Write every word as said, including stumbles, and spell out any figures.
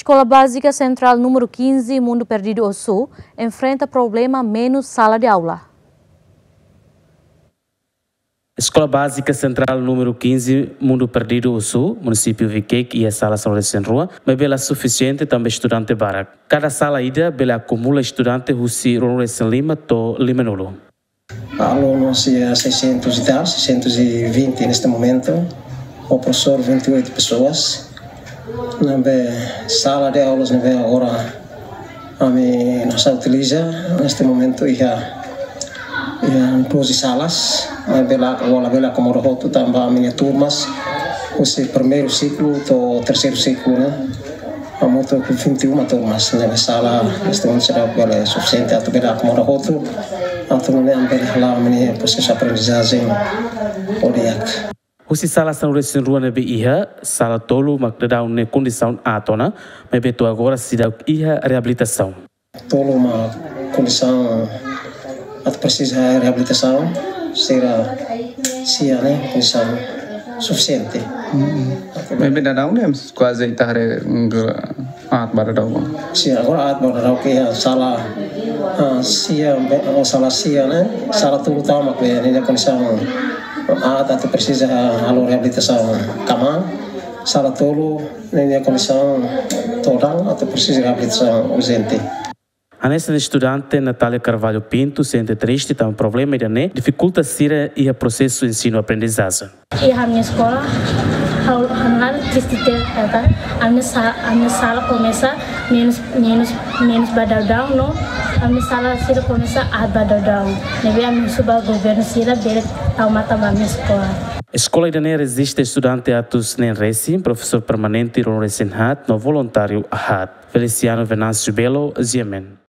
Escola Básica Central número quinze, Mundo Perdido Osu, enfrenta problema menus sala de aula. Eskola Bázika Sentrál númeru quinze, Mundo Perdido Osu, munisípiu Viqueque, iha sala sanulu-resin-rua, maibé la sufisiente tanba estudante barak. Kada sala ida bele akumula estudante husi ruanulu-resin-lima to'o limanulu. Alunos iha seiscentos e tal, seiscentos e vinte neste momento, o professor vinte e oito pessoas. Ne'ebé sala de aulas ne'ebé agora ami nasa utiliza neste momento iha, iha doze salas, maibé la, labele akomoda hotu tanba ami-nia turmas husi primeiru siklu to'o terseiru siklu ne'e, hamutuk vinte e uma turmas, ne'ebé sala neste momento seidauk bele sufisiente atu bele akomoda hotu, atu nune'e ami bele hala'o ami-nia prosesu aprendizajen ho di'ak. Husi sala sanulu-resin-rua ne'ebé iha, sala tolu mak daudaun ne'e kondisaun aat ona, maibé to'o agora seidauk iha reabilitasaun. Tolu mak kondisaun atu presiza reabilitasaun, sira sia ne'e kondisaun sufisiente. Maibé daudaun ne'e kuaze ita haree aat ba daudaun. Sia, agora aat ba daudaun ke iha sala, ah, sia, be-, oh, sala sia ne'e, sala tolu tama ke ninia kondisaun aat atu presiza halo reabilitasaun kama, sala tolu ninia kondisaun todan atu presiza reabilitasaun urjente. Hanesan estudante Natália Carvalho Pinto sente triste tanba problema ida-ne'e difikulta sira iha prosesu ensinu-aprendizajen. Iha ami-nia eskola, ha'u, ha'u hal triste tebes katak ami-nia sa-, ami-nia sala komesa menus, menus, menus ba daudaun no ami-nia sala sira komesa aat ba daudaun. Ne'ebé ami husu ba governu sira bele tau matan ba ami-nia eskola. Eskola ida-ne'e reziste estudante atus neen resin, profesór permanente ruanulu-resin-haat no voluntáriu haat. Feliciano Venâncio Belo, G M N.